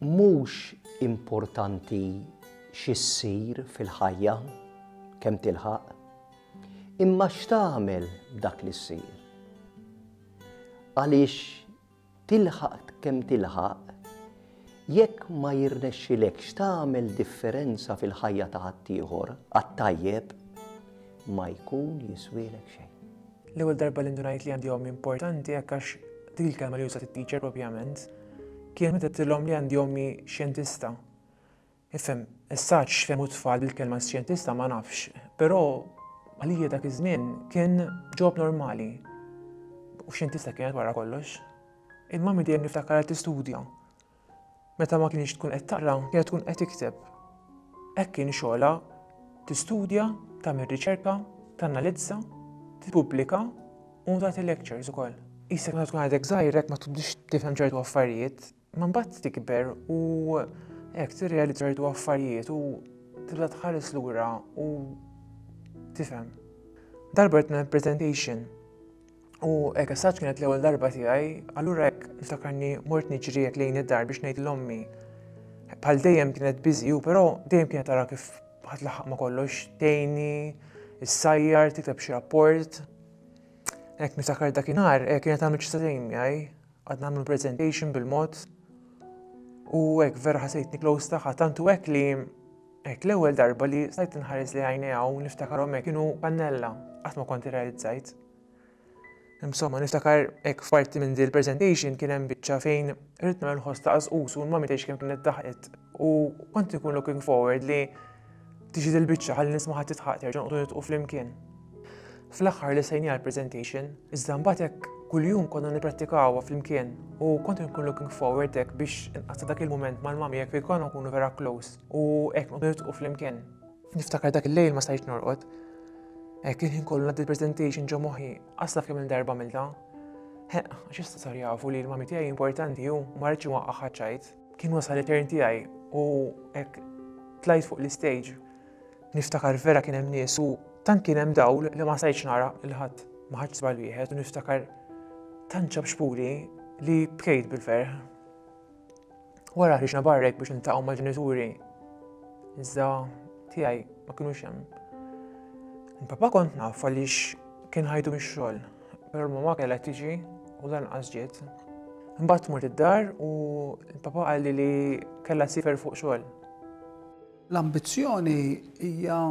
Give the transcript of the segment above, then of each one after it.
Mhux importanti xi ssir fil-ħajja, kemm tilħaq, imma x'tagħmel b'dak li ssir. Għaliex tilħaq kemm tilħaq, jekk ma jirnexxilekx tagħmel differenza fil-ħajja ta' ħaddieħor għat-tajjeb, ma jkun jiswielek xejn. L-ewwel darba li ndunajt li għandi ommi importanti hekk għax dik il-kelma li użat it-teacher propjament, kienet meta għedtilhom li għandi ommi xjentista. Ifhem, issa x'fehmu t-tfal bil-kelma xjentista ma nafx, però għalija dak iż-żmien kien job normali. U xjentista kienet wara kollox. Il-mami dejjem niftakarha tistudja. Meta ma kienx tkun qed taqra, kienet tkun qed tikteb. Hekk kien xogħolha, tistudja, tagħmel riċerka, tanalizza, tippubblika u tagħti lectures ukoll. Isek meta tkun għadek żgħir hekk ma tibdix tifhem ċertu affarijiet, ma mbagħad tikber u hekk tirrealizza ċertu affarijiet u tibda tħares lura u tifhem. Darba qed presentation U hekk as kienet l-ewwel darba tiegħi, allura hekk niftakarni mort niġri hekk lejn id-dar biex ngħid l-ommi. Bħal dejjem kienet busy u però dejjem kienet tara kif ħadd laħaq ma kollox, tgħinni, issajjar, tikteb xi rapport. Hekk niftakar dakinhar eh, kienet għamlet xi sagħtejn miegħi, għad nagħmlu presentation bil-mod. U hekk vera ħasejtni close tagħha tant u hekk li hekk l-ewwel darba li stajt inħares li għajnejha u niftakarhom hekk kienu pannella, qatt ma kont irrealizzajt. Insomma, niftakar hekk f'parti minn dil presentation kien hemm biċċa fejn irrid nagħmel ħoss ta' qasqus u l-mami tgħix kemm kienet daħqet u kont ikun looking forward li tiġi dil biċċa ħalli nisma' ħadd titħaq terġa' noqogħdu nitqu flimkien. Fl-aħħar li sejni għall-presentation, iżda mbagħad hekk kuljum konna nipprattikawha flimkien u kont nkun looking forward hekk biex inqatta' dak il-mument mal-mami hekk fejn konna nkunu vera close u hekk noqogħdu nitqu flimkien. Niftakar dak il-lejl ma stajtx norqod. Hekk il-ħin kollu ngħaddi l-presentation ġo moħħi, qas taf kemm il-darba għamiltha. Ħeq, għax issa sar jafu li l-mami tiegħi importanti u ma rridx inwaqqagħha ċajt. Kien wasal it-turn tiegħi u hekk tlajt fuq l-istage. Niftakar vera kien hemm nies u tant kien hemm dawl li ma stajtx nara lil ħadd. Ma ħadx żball wieħed u niftakar tant ċapxpuli li bkejt bil-ferħ. Wara ħriġna barra hekk biex niltaqgħu mal-ġenituri. Iżda tiegħi ma kinux hemm. Il-papa kont naf għaliex kien ħajtu mix-xogħol, però l-mama kellha tiġi u lanqas ġiet. Imbagħad mort id-dar u l-papa qalli li kellha ssifer fuq xogħol. L-ambizzjoni hija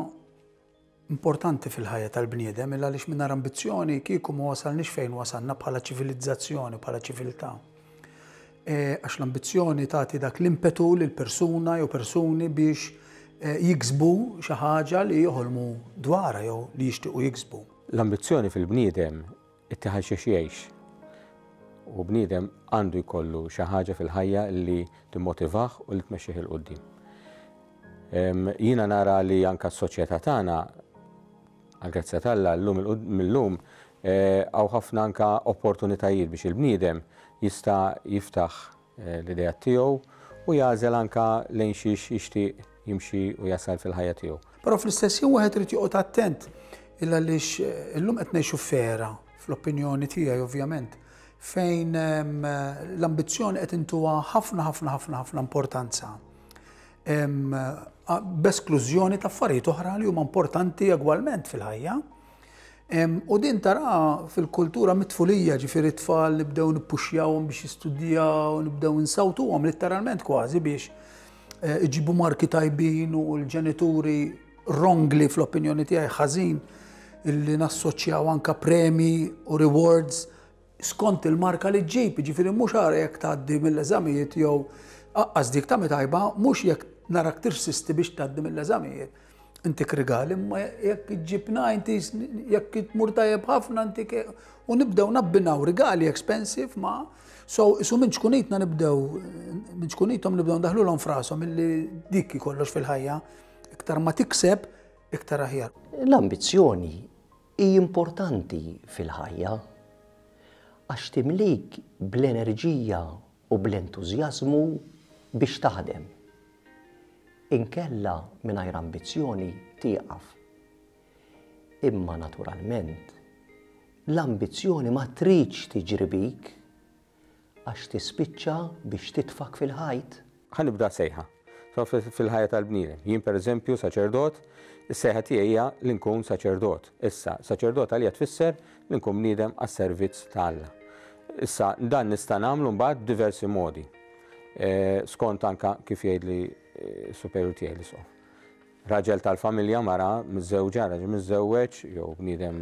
importanti fil-ħajja tal-bniedem il għaliex mingħajr ambizzjoni kieku ma wasalniex fejn wasalna bħala ċivilizzazzjoni, bħala ċiviltà. E, għax l-ambizzjoni tagħti dak l-impetu lil persuna jew persuni biex e, jiksbu xi ħaġa li joħolmu dwarha jew li jixtiequ jiksbu. L-ambizzjoni fil-bniedem ittih għal xiex jgħix. U bniedem għandu jkollu xi ħaġa fil-ħajja li timmotivah u li tmexxih 'il quddiem. Jiena nara li anka s-soċjetà tagħna għall-grazzja t'Alla llum mil-lum eh, hawn ħafna anka opportunitajiet biex il-bniedem jista' jiftaħ l-ideat tiegħu u jagħżel anka lejn xiex jixtieq jimxi u jasal fil-ħajja tiegħu. Però fl-istess ħin wieħed irid joqgħod attent il għaliex eh, illum qed ngħixu f'era, fl-opinjoni tiegħi ovvjament, fejn ehm, l-ambizzjoni qed intuha ħafna ħafna ħafna ħafna importanza. Ehm, b'esklużjoni ta' affarijiet oħra li huma importanti egwalment fil-ħajja. U din tara fil-kultura mit-tfulija, ġifieri t-tfal nibdew nippuxjawhom biex jistudjaw, nibdew insawtuhom litteralment kważi biex eh, iġibu marki tajbin u l-ġenituri wrongly fl-opinjoni tiegħi ħażin illi nassoċjaw anka premi u rewards skont il-marka li ġġib, jiġifieri mhux ara jekk tgħaddi mill-eżamijiet jew aqqas dik ta' tajba, mhux jekk narak tirsisti biex tgħaddi mill-eżamijiet. Intik rigal, imma jekk iġġib 90s, jekk tmur tajjeb ħafna intik u nibdew nabbinaw rigali expensive ma' so isu minn ċkunitna nibdew minn ċkunithom nibdew ndaħlulhom frashom illi dik kollox fil-ħajja. Iktar ma tikseb, iktar aħjar. L-ambizzjoni hi importanti fil-ħajja għax timlik bl-enerġija u bl-entużjażmu biex taħdem. Inkella mingħajr ambizzjoni tieqaf. Imma naturalment, l-ambizzjoni ma tridx tiġri bik għax tispiċċa biex titfgħek fil-ħajt. Ħa nibda sejħa. So fil-ħajja tal-bniedem. Jien pereżempju saċerdot, is-sejħa tiegħi hija li nkun saċerdot. Issa, saċerdot għalija tfisser li nkun bniedem għas-servizz ta' Alla. Issa, dan nista' nagħmlu mbagħad b'diversi modi. Skont anka kif jgħidli s-superjur tiegħi l-isqof. Raġel tal-familja, mara miżżewġa, raġel miżżewweġ, jew bniedem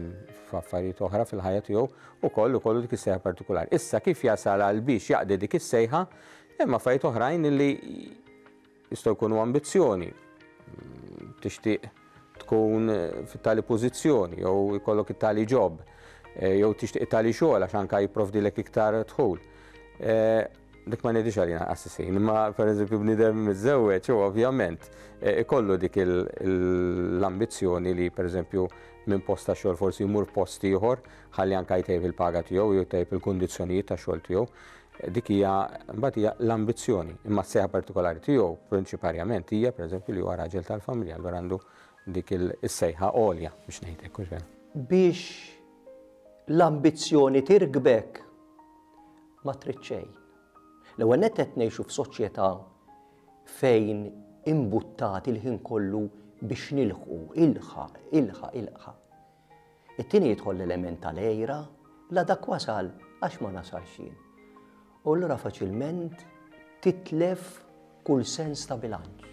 f'affarijiet oħra fil-ħajja tiegħu, ukoll ikollu dik is-sejħa partikulari. Issa kif jasal għal biex jaqdi dik is-sejħa, hemm affarijiet oħrajn li jistgħu jkunu ambizzjoni. Tixtieq tkun fit-tali pożizzjoni jew ikollok it-tali job, jew tixtieq it-tali xogħol għax anka jipprovdilek iktar dħul. Dik ma ngħidix għalina qassisin, imma pereżempju bniedem miżżewweġ u ovvjament eh, ikollu dik l-ambizzjoni li pereżempju minn post ta' xogħol forsi jmur post ieħor ħalli anke jtejjeb il-paga tiegħu jew jtejjeb il-kundizzjonijiet ta' xogħol tiegħu. Dik hija mbagħad hija l-ambizzjoni, imma s-sejħa partikolari tiegħu prinċiparjament hija pereżempju li huwa raġel tal-familja, allura għandu dik is-sejħa għolja biex ngħid hekk. Biex l-ambizzjoni tirkbek Ma trid xejn. L-ewwel nett qed ngħixu f'soċjetà fejn imbuttati l-ħin kollu biex nilħqu, ilħaq, ilħaq, ilħaq. It-tieni jidħol l-element tal-għira, la dak wasal għax ma nasalx jien. U allura faċilment titlef kull sens ta' bilanċ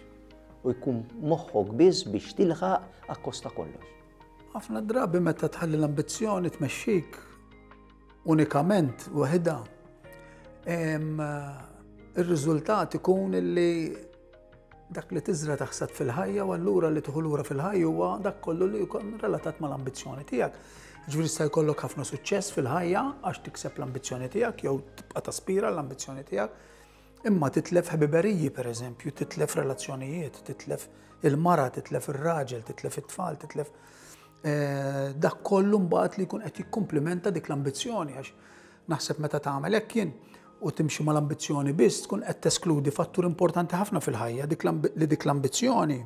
u jkun moħħok biss biex tilħaq akkost ta' kollox. Ħafna drabi meta tħalli l-ambizzjoni tmexxik unikament waħidha, ir-riżultat ikun li dak li tiżra taħsad fil-ħajja u allura li tieħu lura fil-ħajja huwa dak kollu li jkun relatat mal-ambizzjoni tiegħek. Ġifieri jista' jkollok ħafna suċċess fil-ħajja għax tikseb l-ambizzjoni tiegħek jew tibqa' taspira l-ambizzjoni tiegħek, imma titlef ħbiberiji pereżempju, titlef relazzjonijiet, titlef il-mara, titlef ir-raġel, titlef it-tfal, titlef Eh, dak kollu mbagħad li jkun qed jikkumplimenta dik l-ambizzjoni għax naħseb meta tagħmel hekk jien u timxi mal-ambizzjoni biss tkun qed teskludi fattur importanti ħafna fil-ħajja li dik l-ambizzjoni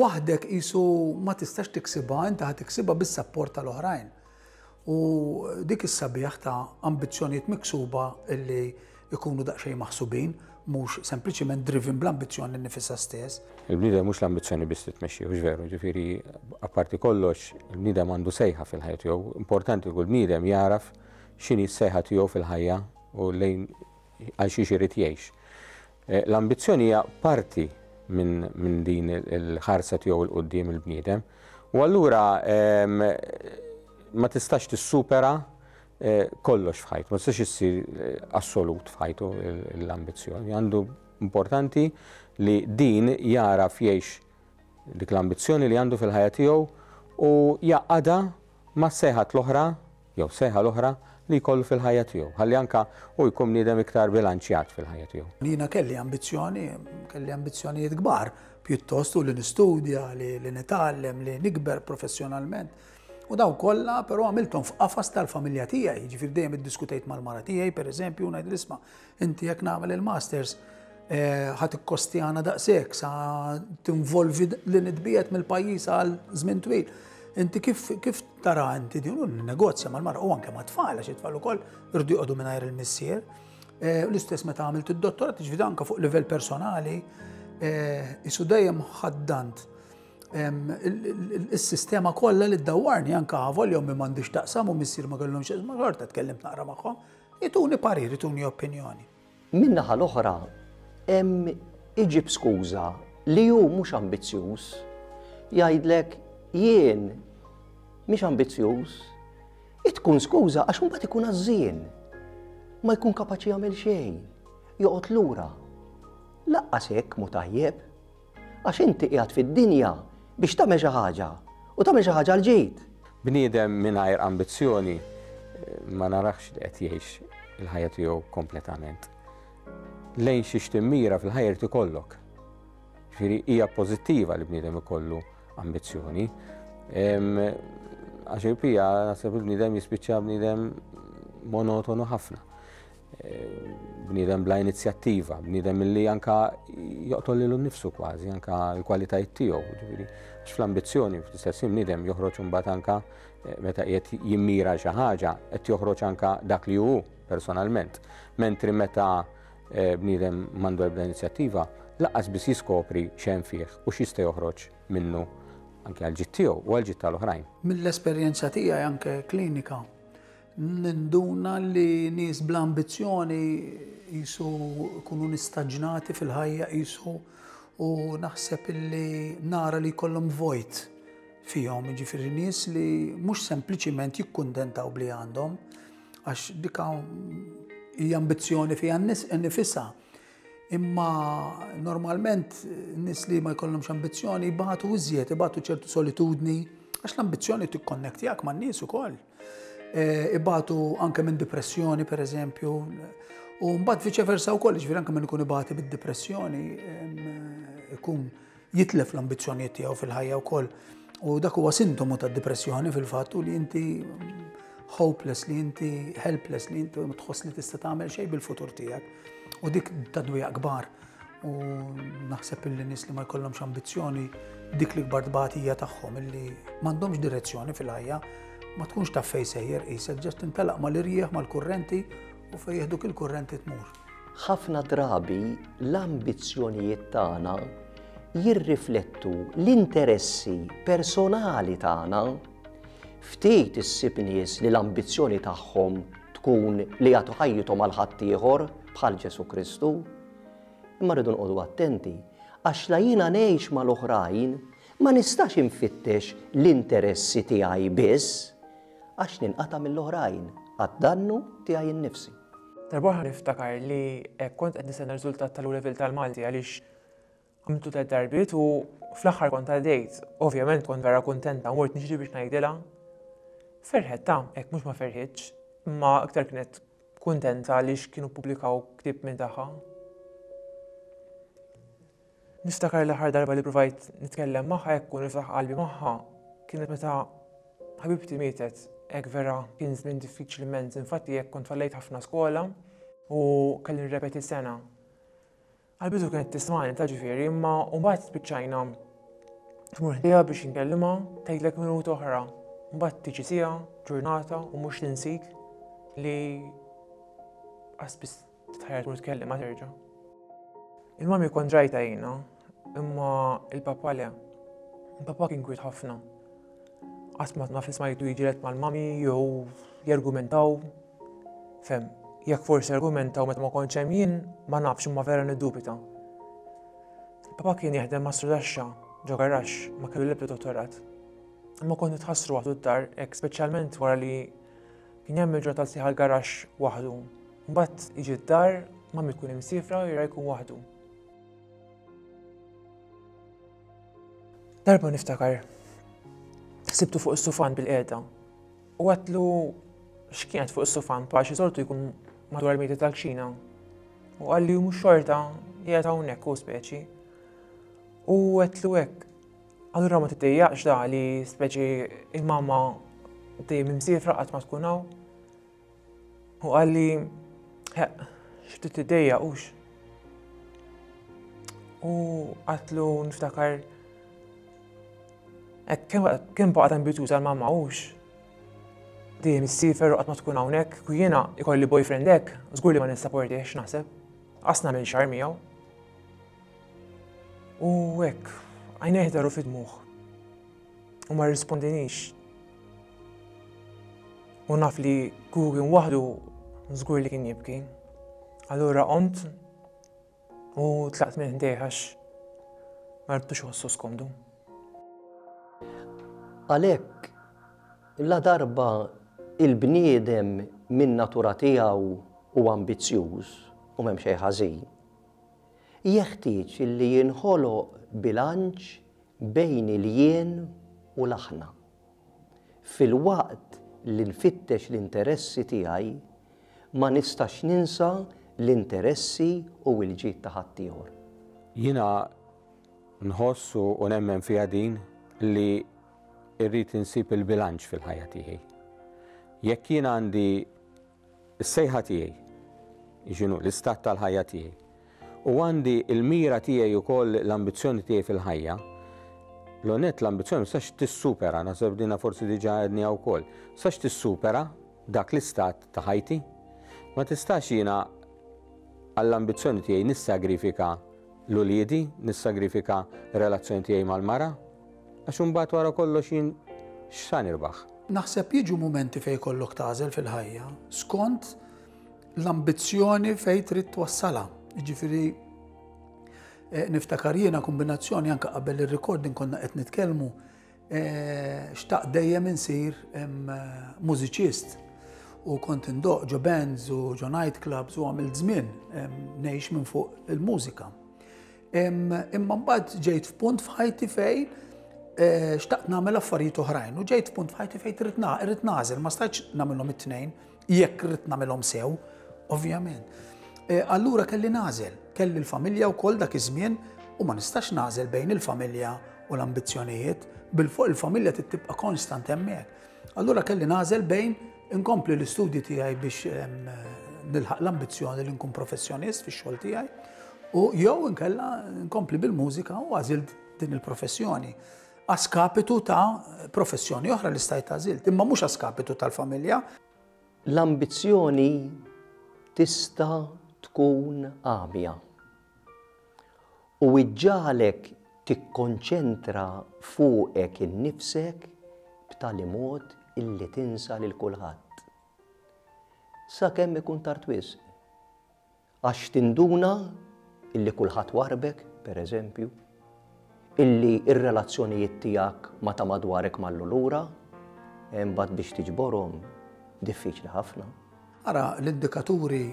waħdek qisu ma tistax tiksibha, inti ħa tiksibha bis-sapport tal-oħrajn. U dik is-sabiħ ta' ambizzjonijiet miksuba illi jkunu daqsxejn maħsubin, mhux sempliċiment driven bl-ambizzjoni nnifisha stess. Il-bniedem mhux l-ambizzjoni biss li tmexxih, hux veru, ġifieri apparti kollox il-bniedem għandu sejħa fil-ħajja tiegħu. Importanti li kull bniedem jagħraf x'inhi s-sejħa tiegħu fil-ħajja u lejn għal xiex irid jgħix. L-ambizzjoni hija parti minn din il-ħarsa tiegħu 'l quddiem il-bniedem. U allura ma tistax tissupera kollox f'ħajtu, ma tistax issir assolut f'ħajtu l-ambizzjoni. Għandu importanti li din jagħraf jgħix dik l-ambizzjoni li għandu fil-ħajja tiegħu u jgħaqqadha mas-sejħat l-oħra jew sejħa l-oħra li jkollu fil-ħajja tiegħu, ħalli anke hu jkun bniedem iktar bilanċjat fil-ħajja tiegħu. Jiena kelli ambizzjoni, kelli ambizzjonijiet kbar pjuttost u li nistudja, li nitgħallem, li nikber professjonalment. U dawn kollha però għamilthom f'qafas tal-familja tiegħi, jiġifieri dejjem iddiskutejt mal-mara tiegħi pereżempju u ngħidilha isma' inti jekk nagħmel il-masters eh, ħa tikkostjana daqshekk sa tinvolvi li nitbiegħed mill-pajjiż għal żmien twil. Inti kif, kif tara inti din u negozja mal-mara u anke mat-tfal għax it-tfal ukoll irdu joqogħdu mingħajr il-missier. Eh, l-istess meta għamilt id-dottorat, ġifieri anke fuq livell personali, eh, isu dejjem ħaddant is-sistema kollha li ddawwarni anke avolja ommi m'għandix taqsam u missier ma kellhomx ma xorta tkellimt naqra magħhom, ituni parir, ituni opinjoni. Min-naħa l-oħra hemm iġib skuża li hu mhux ambizzjuż. Jgħidlek jien mhix ambizzjuż. Tkun skuża għax imbagħad ikun għażżien. Ma jkun kapaċi jagħmel xejn. Joqgħod lura. Laqqas hekk mhu tajjeb. Għax inti qiegħed fid-dinja biex tagħmel xi ħaġa u tagħmel xi ħaġa għall-ġid. Bniedem mingħajr ambizzjoni ma narahx li qed jgħix il-ħajja tiegħu kompletament. Lejn xiex timmira fil-ħajja jrid ikollok. Ġifieri hija pożittiva li bniedem ikollu ambizzjoni. Għax il-pija naħseb il-bniedem jispiċċa bniedem monotonu ħafna. Bniedem bla inizjattiva, bniedem li anka joqtol lilu nnifsu kważi, anka l-kwalitajiet tiegħu, ġifieri, għax fl-ambizzjoni fl-istess ħin bniedem joħroġ imbagħad anka eh, meta qiegħed jimmira xi ħaġa, qed joħroġ anka dak li hu personalment. Mentri meta bniedem m'għandu ebda inizjattiva, lanqas biss jiskopri x'hemm fih u x'jista' joħroġ minnu anke għall-ġid tiegħu u għall-ġid tal-oħrajn. Mill-esperjenza tiegħi anke klinika, ninduna li nies bla ambizzjoni qisu jkunu nistaġnati fil-ħajja qisu u naħseb illi nara li jkollhom vojt fihom, jiġifieri nies li mhux sempliċiment jikkuntentaw bli għandhom, għax dika hija ambizzjoni fiha nnifisha. Imma normalment nies li ma jkollhomx ambizzjoni jbatu iżjed, ibatu ċertu solitudni, għax l-ambizzjoni tikkonnektjak man-nies ukoll. E, ibatu anke minn depressjoni, per eżempju, u mbagħad viċe versa wkoll, ġifieri anke minn ikun ibati bid-depressjoni ikun jitlef l-ambizzjonijiet tiegħu fil-ħajja wkoll. U dak huwa sintomu tad-depressjoni fil-fatt u li inti hopeless, li inti helpless, li inti ma tħoss li tista' tagħmel xejn bil-futur tiegħek. U dik ta' dwejjaq kbar. U naħseb illi nies li ma jkollhomx ambizzjoni dik li kbar tbatija tagħhom illi m'għandhomx direzzjoni fil-ħajja, ma tkunx taf fejn sejjer qisek ġast tintelaq mal-irjieħ mal-kurrenti u fejn jieħduk il-kurrenti tmur. Ħafna drabi l-ambizzjonijiet tagħna jirriflettu l-interessi personali tagħna. Ftit issib nies li l-ambizzjoni tagħhom tkun li jagħtu ħajjithom għal ħaddieħor bħal Ġesù Kristu. Imma rridu nqogħdu attenti għax la jiena ngħix mal-oħrajn ma nistax infittex l-interessi tiegħi biss għax ninqata' mill-oħrajn għad-dannu tiegħi nnifsi. Darb'oħra niftakar li kont qed nistenna r-riżultat tal-O Level tal-Malti għaliex Għamiltu tlett darbiet u fl-aħħar kont għaddejt. Ovvjament kont vera kuntenta u mort niġri biex ngħidilha. Ferħet ta' hekk mhux ma ferħitx, imma iktar kienet kuntenta għaliex kienu ppubblikaw ktieb minn tagħha. Niftakar l-aħħar darba li provajt nitkellem magħha hekk u niftaħ qalbi magħha kienet meta ħabibti mietet hekk vera kien żmien diffiċli immens, infatti hekk kont fallejt ħafna skola u kelli nirrepeti sena. Għall-bidu kienet tismagħni ta' ġifieri, imma mbagħad spiċċajna tmur ħdejha biex inkellimha, tgħidlek minuta oħra. Mbagħad tiġi siegħa, ġurnata u mhux tinsik li qas biss titħajjar tmur tkellimha terġa'. Il-mami kont rajta jiena, imma il-papa le. Il-papa kien kwiet ħafna. Qatt ma naf smajtu jiġilet mal-mami jew jargumentaw. Fem, jekk forsi argumentaw meta ma kontx hemm jien, ma nafx imma vera niddubita. Papa kien jaħdem mastru taxxa ġo garaxx, ma kellu l-ebda dottorat. Imma kont nitħassru waħdu d-dar, hekk speċjalment wara li kien jagħmel ġurnata sħiħa l-garaxx waħdu. Mbagħad jiġi d-dar, mami tkun imsiefra u jara jkun waħdu. Darba niftakar, sibtu fuq is-sufan bil-qiegħda u għatlu x'kienet fuq is-sufan pa xi soltu jkun madwar il-mejda tal-kxina. U qalli mhux xorta qiegħed hawnhekk u speċi. U għedtlu hekk. Allura ma tiddejjaqx da li speċi il-mama dejjem imsiefra qatt ma tkun hawn. U qalli, xi tiddejjaq hux. U għatlu niftakar kemm baqgħet ambizjuża l-mamma hux. Dejjem issifer u qatt ma tkun hawnhekk, ku jiena ikolli boyfriend hekk, żgur li ma nissaportihx naħseb. Qas nagħmel xahar miegħu. U hekk, għajnejh daru fid-dmugħ. U ma rrispondinix. U naf li kieku kien waħdu żgur li kien jibki. Allura qomt u tlaqt minn ħdejh għax ma ridtux iħossu skomdu. Għalhekk, la darba il-bniedem min natura tiegħu hu ambizzjuż u m'hemm xejn ħażin, jeħtieġ li jinħoloq bilanċ bejn il-jien u l-aħna. Filwaqt li nfittex l-interessi tiegħi, ma nistax ninsa l-interessi u l-ġid ta' ħaddieħor. Jiena nħoss u nemmen fiha din li rrid insib il-bilanċ fil-ħajja tiegħi. Jekk jien għandi is-sejħa tiegħi, x'inhu l-istat tal-ħajja tiegħi, u għandi l-mira tiegħi wkoll l-ambizzjoni tiegħi fil-ħajja, l-onet l-ambizzjoni ma tistax tissupera, naħseb dina forsi diġà għedniha wkoll, tistax tissupera dak l-istat ta' ħajti. Ma tistax jiena. għall-ambizzjoni tiegħi nissagrifika l-uliedi, nissagrifika r-relazzjoni tiegħi mal-mara? Għax imbagħad wara kollox jien x'sa nirbaħ? Naħseb jiġu mumenti fejn jkollok tagħżel fil-ħajja skont l-ambizzjoni fejn trid twassalha. Jiġifieri eh, niftakar jiena kombinazzjoni anke qabel ir-recording konna qed nitkellmu eh, xtaq dejjem insir mużiċist u kont indoq ġo bands u ġo night clubs u għamilt żmien ngħix minn fuq il-mużika. Imma mbagħad ġejt f'punt f'ħajti fejn eh, xtaqt nagħmel affarijiet oħrajn u ġejt f'punt f'ħajti fejn trid irrid nagħżel, ma stajtx nagħmilhom it-tnejn jekk irrid nagħmilhom sew, ovvjament. Eh, allura kelli nagħżel, kelli l-familja wkoll dak iż-żmien u ma nistax nagħżel bejn il-familja u l-ambizzjonijiet, bil-fuq il-familja tibqa' konstant hemmhekk. Allura kelli nagħżel bejn inkompli l-istudji tiegħi biex nilħaq l-ambizzjoni li nkun professjonist fix-xogħol tiegħi u jew inkella nkompli bil-mużika u għażilt din il-professjoni. Askapitu ta' professjoni oħra li stajt għażilt, imma mhux askapitu tal-familja. L-ambizzjoni tista' tkun għamja. U iġġagħlek tikkonċentra fuqek innifsek b'tali mod illi tinsa lil kulħadd. Sakemm ikun tard wisq. Għax tinduna illi kulħadd warrbek, per eżempju, illi r-relazzjonijiet tiegħek ma' ta' madwarek mallu lura, imbagħad biex tiġborhom diffiċli ħafna. Ara l-indikaturi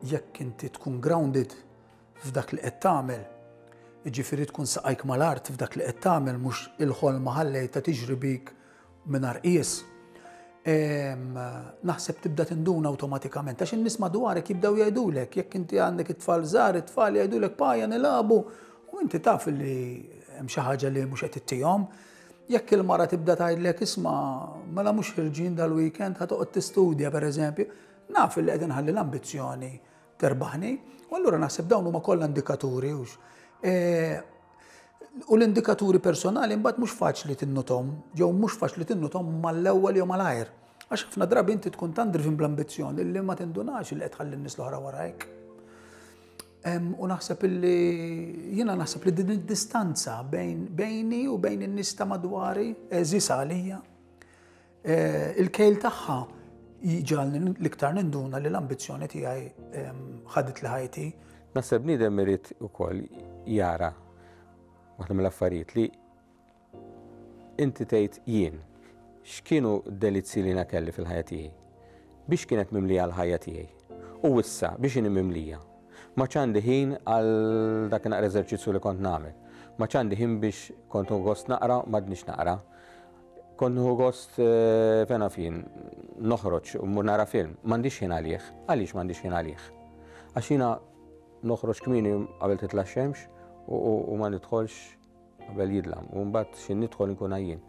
jekk inti tkun grounded f'dak li qed tagħmel, jiġifieri tkun saqajk mal-art f'dak li qed tagħmel mhux il-ħolma ħallejtha tiġri bik mingħajr qies. Naħseb tibda tinduna awtomatikament għax in-nies madwarek jibdew jgħidulek jekk inti għandek it-tfal żgħar, it-tfal jgħidulek paja nilagħbu u inti taf li hemm xi ħaġa li mhux qed ittihom. Jekk il-mara tibda tgħidlek isma' mela mhux ħirġin dal-weekend ħa toqgħod tistudja pereżempju, naf li qed inħalli l-ambizzjoni terbaħni. U allura naħseb dawn huma kollha indikaturi hux. E, u l-indikaturi personali mbagħad mhux faċli tinnuthom, jew mhux faċli tinnuthom mal-ewwel jew malajr. Għax ħafna drabi inti tkun tant driven bl-ambizzjoni li ma tindunax li qed tħalli n-nies l-oħra warajk. U naħseb illi jiena naħseb li din id-distanza bejn bejni u bejn in-nies ta' madwari eżis għalija. Eh, il-kejl tagħha jġalni l-iktar ninduna li l-ambizzjoni tiegħi ħadet li ħajti. Naħseb bniedem irid ukoll jara waħda mill-affarijiet li inti tgħid jien x'kienu d-delizzi li jiena kelli fil-ħajja tiegħi? Biex kienet mimlija l-ħajja tiegħi? U issa biex inhi mimlija? M'għadx għandi ħin għal dak naqra eżerċizzju li kont nagħmel. M'għadx għandi ħin biex kont nieħu gost naqra, m'għadnix naqra. Kont nieħu gost eh, fejn naf jien noħroġ u mmur nara film. M'għandix ħin għalih. Għaliex m'għandix ħin għalih? Għax jiena noħroġ kmieni qabel titla' x-xemx u ma nidħolx qabel jidlam u mbagħad xi nidħol inkun għajjien.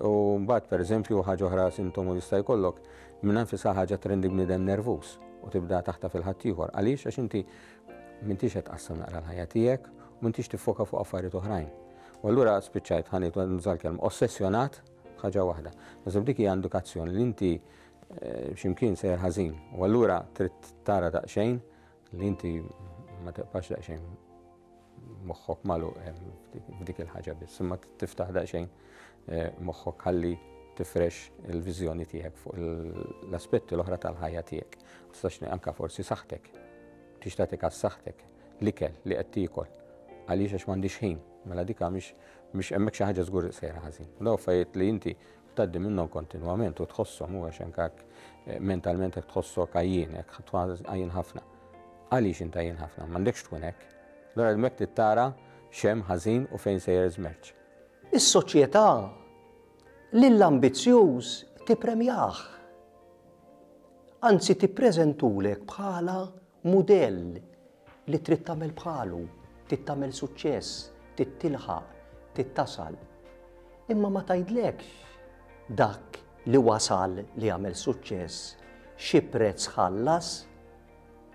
U mbagħad pereżempju ħaġa oħra sintomu li jista' jkollok minn nfisha ħaġa trendi bniedem nervuż u tibda taħta fil-ħaddieħor. Għaliex għax inti m'intix qed tqassam naqra l-ħajja tiegħek u m'intix tiffoka fuq affarijiet oħrajn. U allura spiċċajt ħanit nuża l-kelma ossessjonat b'ħaġa waħda. Naħseb dik hija indikazzjoni li inti eh, x'imkien sejjer ħażin. U allura trid tara daqsxejn li inti ma tibqax daqsxejn moħħok magħluq eh, f'dik il-ħaġa biss, imma tiftaħ daqsxejn eh, moħħok ħalli tifrex il-viżjoni tiegħek fuq l-aspetti l-oħra tal-ħajja tiegħek. Tistax anka forsi saħħtek. Tix tagħti kas saħħtek, l-ikel li qed tiekol. Għaliex għax m'għandix ħin, mela dika mhix mhix hemmhekk xi ħaġa żgur sejra ħażin. Daw affarijiet li inti tgħaddi minnhom kontinwament u tħosshom u għax anke eh, mentalment hekk tħossok għajjien, hekk għajjien ħafna. Għaliex int għajjien ħafna? M'għandekx tkun hekk. Allura hemmhekk trid tara x'hemm ħażin u fejn sejjer iż-żmerċ. Is-soċjetà lill-ambizzjuż tippremjah. Anzi tippreżentulek bħala mudell li trid tagħmel bħalu, trid tagħmel suċċess, trid tilħaq, trid tasal. Imma ma tgħidlekx dak li wasal li għamel suċċess xi prezz ħallas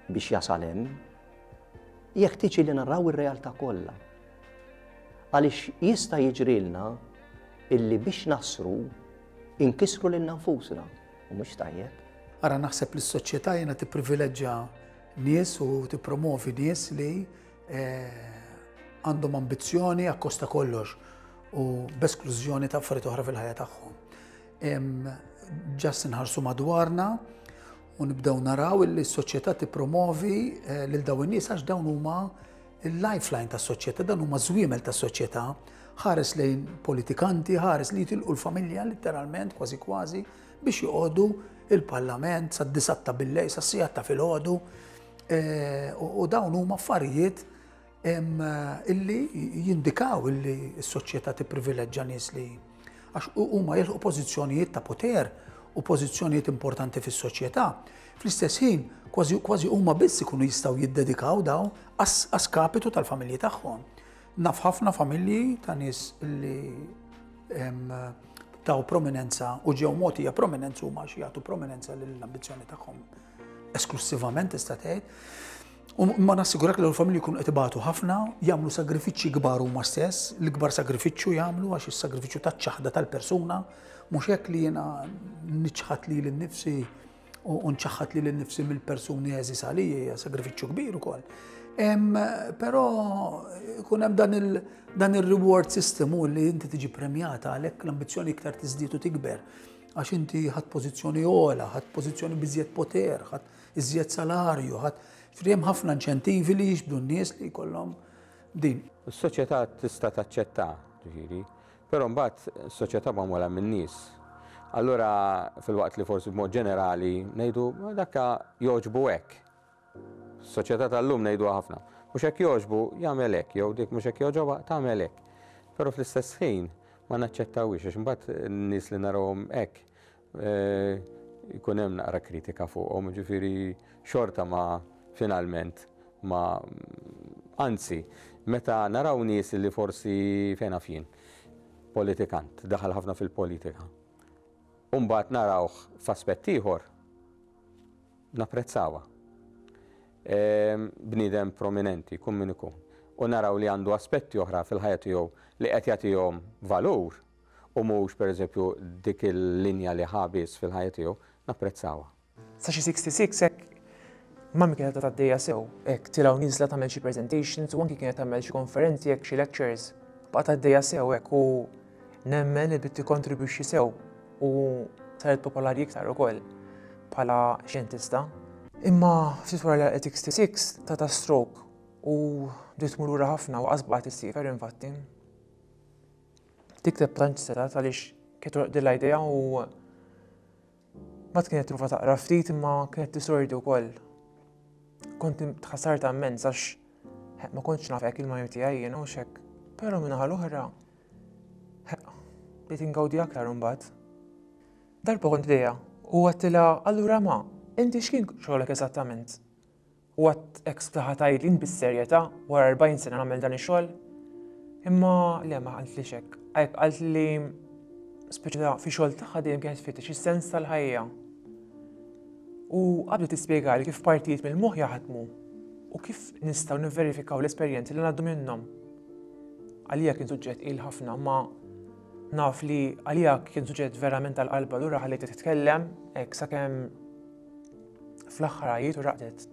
biex jasal hemm. Jeħtieġ li naraw ir-realtà kollha. Għaliex jista' jiġrilna illi biex nasru inkisru lilna nfusna u mhux tajjeb. Ara naħseb li s-soċjetà jiena tipprivileġġa nies u tippromovi nies li għandhom ambizzjoni akkosta kollox u b'esklużjoni ta' affarijiet oħra fil-ħajja tagħhom. Ġast inħarsu madwarna u nibdew naraw li s-soċjetà tippromovi eh, lil dawn in-nies għax dawn huma il-lifeline tas-soċjetà, dawn huma żwiemel tas-soċjetà, ħares lejn politikanti, ħares li jitilqu l-familja letteralment kważi kważi biex joqogħdu il-parlament sad-disgħat ta' billejl, sas-sigħat ta' filgħodu. Eh, u dawn huma affarijiet illi jindikaw illi s-soċjetà tipprivileġġa nies li għax huma jilħu pożizzjonijiet ta' poter u pożizzjonijiet importanti fis-soċjetà. Fl-istess ħin, kważi kważi huma biss ikunu jistgħu jiddedikaw daw għas-skapitu tal-familji tagħhom. Naf ħafna familji ta' nies li taw prominenza u ġew mogħtija prominenza huma xi jagħtu prominenza lill-ambizzjoni tagħhom esklussivament tista' tgħid. U ma nassigurak li l-familji jkunu qed ibatu ħafna, jagħmlu sagrifiċċji kbar huma stess, l-ikbar sagrifiċċju jagħmlu għax is-sagrifiċċju taċ-ċaħda tal-persuna, mhux hekk li jiena niċħad lili nnifsi u nċaħħad lili nnifsi mill-persuni għeżież għalija hija sagrifiċċju kbir ukoll. Però ikun hemm dan il-reward system u li inti tiġi premjata għalhekk l-ambizzjoni iktar tiżdied u tikber. Għax inti ħadd pożizzjoni ogħla, ħadd pożizzjoni biżjed poter, ħadd iżjed salarju, ħadd hemm ħafna inċentivi li jiġbdu n-nies li jkollhom din. Is-soċjetà tista' taċċetta, ġifieri, Però mbagħad soċjetà magħmula min-nies. Allura filwaqt li forsi b'mod ġenerali ngħidu dakka jogħġbu hekk. Soċjetà tal-lum ngħiduha ħafna. Mhux hekk jogħġbu jagħmel hekk jew dik mhux hekk jogħġobha tagħmel hekk. Però fl-istess ħin ma naċċettawhiex għax imbagħad n-nies li narawhom hekk eh, jkun hemm naqra kritika fuqhom, ġifieri xorta ma finalment ma anzi, meta naraw nies li forsi fejn naf jien, politikant, daħal ħafna fil-politika. U mbagħad narawh f'aspett ieħor, napprezzawha. Ehm, bniedem prominenti, kun min ikun. U naraw li għandu aspetti oħra fil-ħajja tiegħu li qed jagħtihom valur u mhux pereżempju dik il-linja li ħa biss fil-ħajja tiegħu, napprezzawha. Sa xi 66 hekk mami kienet għaddejja sew, hekk tilgħu niżla tagħmel xi presentations u anki kienet tagħmel xi konferenzi hekk xi lectures. Baqgħet għaddejja sew hekk u nemmen li bdiet tikkontribwixxi sew u saret popolari iktar ukoll bħala xjentista. Imma ftit wara li għalqet 66 tata stroke u bdiet tmur lura ħafna u qas baqgħet issiefer infatti. Tikteb tantx setgħet għaliex kienet toqdilha idea u Mbagħad kienet tipprova taqra ftit imma kienet tisordi wkoll. Kont tħassarta immens għax ma kontx naf hekk il-major tiegħi jien u xek. Però minnaħa l-oħra bdejt ingawdi aktar imbagħad. Darba kont dejja u għattilha allura ma, inti x'kien xogħolok eżattament? U għad hekk sbtaħa tgħidli int bis-serjetà wara 40 sena nagħmel dan ix-xogħol? Imma le ma qaltlix hekk. Hekk qaltli speċi ta' fi xogħol tagħha dejjem kienet tfittex is-sens tal-ħajja. U qabdet tispjegali kif partijiet mill-moħħ jaħdmu u kif nistgħu nivverifikaw l-esperjenzi li ngħaddu minnhom. Għalija kien suġġett il ħafna, ma naf li għalija kien suġġett verament tal-qalba lura ħallejtha titkellem hekk sakemm Fl-aħħar għajiet u raqdet.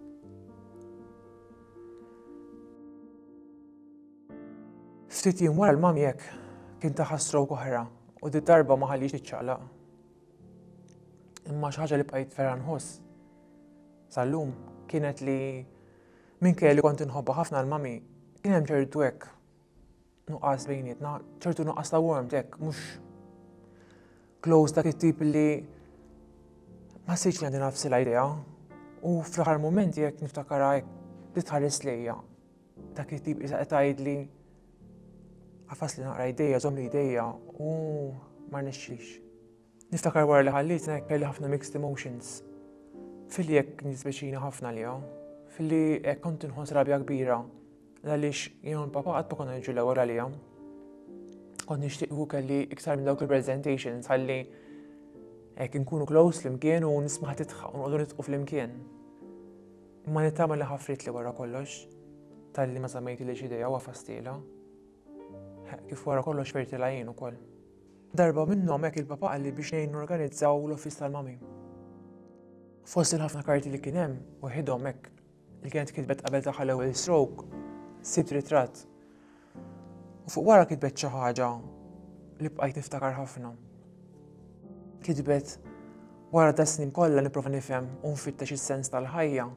Ftit jiem wara l-mami hekk kien taħa stroke oħra u di darba ma ħallix tiċċaqlaq. Imma xi ħaġa li bqajt vera nħoss sal-lum kienet li minkejja li kont inħobbha ħafna l-mami kien hemm ċertu hekk nuqqas bejnietna, ċertu nuqqas ta' warmth hekk, mhux close dak it-tip li ma sejtx li għandi nafsi l-idea. U fl-aħħar mumenti jekk niftakara hekk li tħares lejja. Dak it-tip isa qed tgħidli għafas li naqra idejja, żomm li idejja u ma rnexxix. Niftakar wara li ħallietna hekk kelli ħafna mixed emotions. Filli hekk nispeċina ħafna liha, filli hekk kont inħoss rabja kbira għaliex jien u l-papa qatt ma konna niġu l-ewwel għalija. Kont nixtieq hu kelli iktar minn dawk il-presentations ħalli hekk inkunu close flimkien u nisma' titħaq u noqogħdu nitqu flimkien. Imma nittama li ħafritli wara kollox talli ma żammejtilix idejha u għafastilha. Kif wara kollox fertilha jien ukoll. Darba minnhom hekk il-papa qalli biex ngħin norganizzaw l-office tal-mami. Fost il-ħafna karti li kien hemm, waħidhom hekk li kienet kitbet qabel tagħha l-ewwel stroke, sibt ritratt. U fuq wara kitbet xi ħaġa li bqajt niftakar ħafna. Kitbet wara da snin kollha nipprova nifhem u nfittex is-sens tal-ħajja,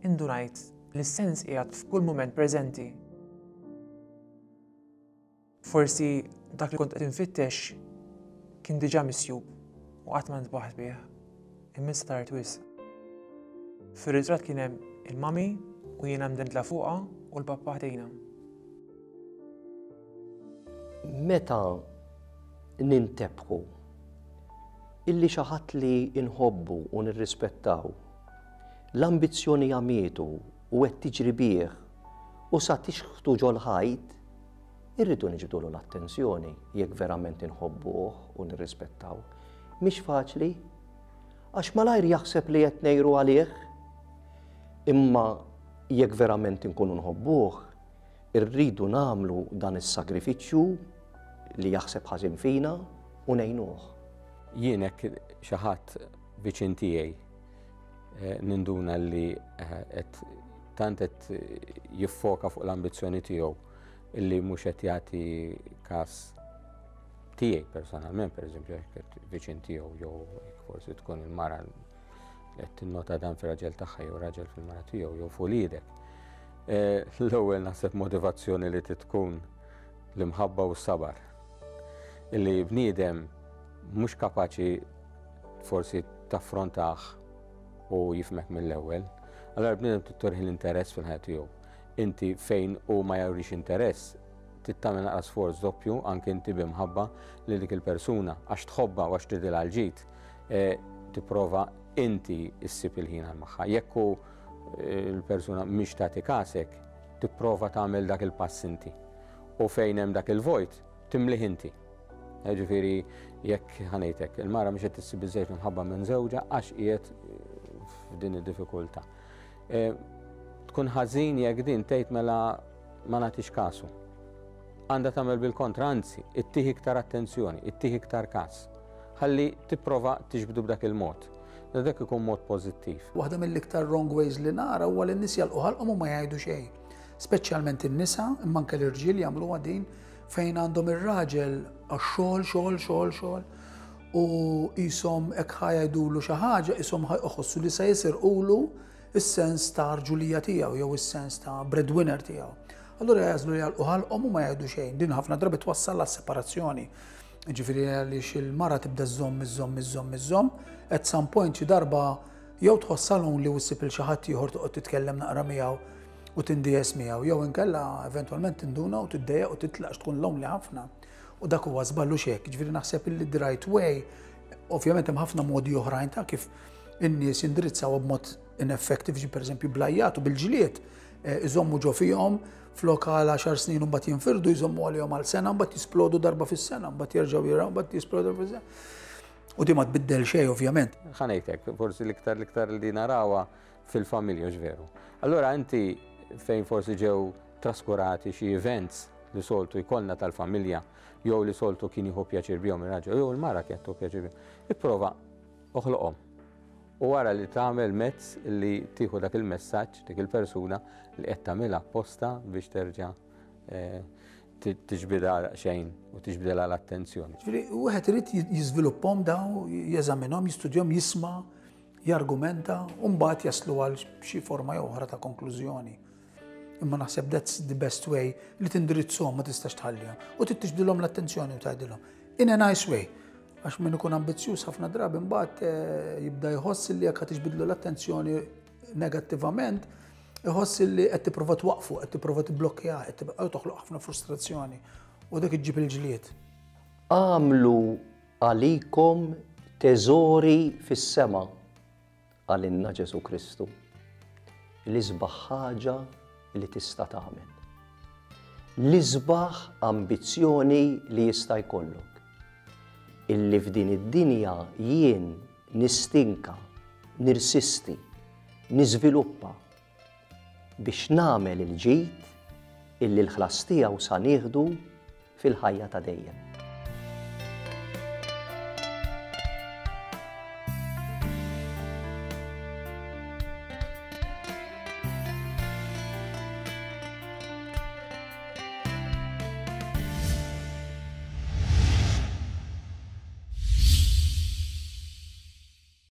indunajt li s-sens qiegħed f'kull mument preżenti. Forsi dak li kont qed infittex kien diġà misjub u qatt ma ntbaħt bih. Imma issa tard wisq. Fir-ritratt kien hemm il-mami u jiena mdendla fuqha u l-papà ħdejna. Meta nintebħu illi xi ħadd li nħobbu u nirrispettaw, l-ambizzjoni għamietu u qed tiġri bih u sa tixħtu ġol-ħajt, irridu niġbdulu l-attenzjoni jekk verament inħobbuh u nirrispettaw. Mhix faċli, għax malajr jaħseb li qed ngħiru għalih. Imma jekk verament inkunu nħobbuh, irridu nagħmlu dan is-sagrifiċċju li jaħseb ħażin fina u ngħinuh. Jien hekk xi ħadd viċin tiegħi eh, ninduna li eh, qed tant qed jiffoka fuq l-ambizzjoni tiegħu illi mhux qed jagħti każ tiegħi personalment, pereżempju jekk viċin tiegħu jew forsi tkun il-mara li qed tinnota dan fir-raġel tagħha jew raġel fil-mara tiegħu jew fuq eh, L-ewwel naħseb motivazzjoni li tkun l-imħabba u s-sabar. Illi bniedem mhux kapaċi forsi taffrontah u jifmek mill-ewwel. Allora bniedem tittorħi l-interess fil-ħajja tiegħu. Inti fejn hu ma jurix interess, trid tagħmel naqra sforz doppju anke inti bi mħabba lil dik il-persuna għax tħobbha u għax tridilha l-ġid, eh, tipprova inti ssib il-ħin għal magħha. Jekk hu eh, l-persuna mhix tagħti kasek, tipprova tagħmel dak il-pass inti. U fejn hemm dak il-vojt, timlih inti. Eh, ġifieri jekk ħanejtek, il-mara mhix qed issib biżejjed minħabba minn żewġha għax qiegħed f'din id-diffikultà. E, tkun ħażin jekk din tgħid mela ma nagħtix kasu. Għandha tagħmel bil-kontra, anzi, ittih iktar attenzjoni, ittih iktar kas. Ħalli tipprova tiġbdu b'dak il-mod. Dak ikun mod pożittiv. Waħda mill-iktar wrong ways li nara huwa li n-nies jalqu ħalqhom u ma jgħidu xejn. Speċjalment in-nisa, imma anke l-irġiel jagħmluha din fejn għandhom ir-raġel għax-xogħol, xogħol, xogħol, xogħol u qishom hekk ħa jgħidulu xi ħaġa, qishom ħa jħossu li se jisirqulu s-sens ta' rġulija tiegħu jew is-sens ta' breadwinner tiegħu. Allura jagħżlu li jagħlqu ħalqhom u ma jgħidu xejn. Din ħafna drabi twassal għas-separazzjoni. Ġifieri għaliex il-mara tibda żżomm, iżżomm, iżżomm, iżżomm, at some point xi darba jew tħossha lonely u ssib il xi ħadd ieħor toqgħod titkellem naqra miegħu u tindies miegħu, jew inkella eventwalment tinduna u tiddejjaq u titlaq tkun lonely ħafna. U dak huwa żball hux hekk. Ġifieri naħseb illi the right way, ovvjament hemm ħafna modi oħrajn ta' kif in-nies jindirizzawha b'mod ineffective, ġi pereżempju bl-għajjat u bil-ġlied, eh, iżommu ġo fihom flok għal 10 snin u mbagħad jinfirdu jżommu għalihom għal sena mbagħad jisplodu darba fis-sena, mbagħad jerġgħu jiraw, mbagħad jisplodu darba fis-sena. U di ma tbiddel xejn ovvjament. Ħa ngħidlek, forsi l-iktar l-iktar li narawha fil-familja veru. Allora inti fejn forsi ġew traskurati xi events li soltu jkollna tal-familja jew li soltu kien jieħu pjaċir bihom ir-raġel jew il-mara kienet tieħu pjaċir bihom. Ipprova oħloqhom. U wara li tagħmel mezz li tieħu dak il-messaġġ dik il-persuna li qed tagħmilha apposta biex terġa' eh, tiġbidha xejn u tiġbidilha l-attenzjoni. Ġifieri wieħed irid jiżviluppahom daw, jeżaminhom, jistudjahom, jisma' jargumenta u mbagħad jaslu għal xi forma jew oħra ta' konklużjoni. Imma naħseb that's the best way li tindirizzhom ma tistax tħallihom. U trid tiġbdilhom l-attenzjoni u tgħidilhom. In a nice way. Għax min ikun ambizzjuż ħafna drabi mbagħad eh, jibda jħoss li jekk tiġbidlu l-attenzjoni negattivament, iħoss li qed tipprova twaqfu, qed tipprova tibblokkeha, qed tibqa' toħloq ħafna frustrazzjoni. U dak iġġib il-ġlied. Agħmlu għalikom teżori fis-sema Qalilna Ġesù Kristu, l-isbaħ ħaġa li tista' tagħmel. L-isbaħ ambizzjoni li jista' jkollok. Illi f'din id-dinja jien nistinka, nirsisti, niżviluppa biex nagħmel il-ġid illi l-ħlas tiegħu sa nieħdu fil-ħajja ta' dejjem.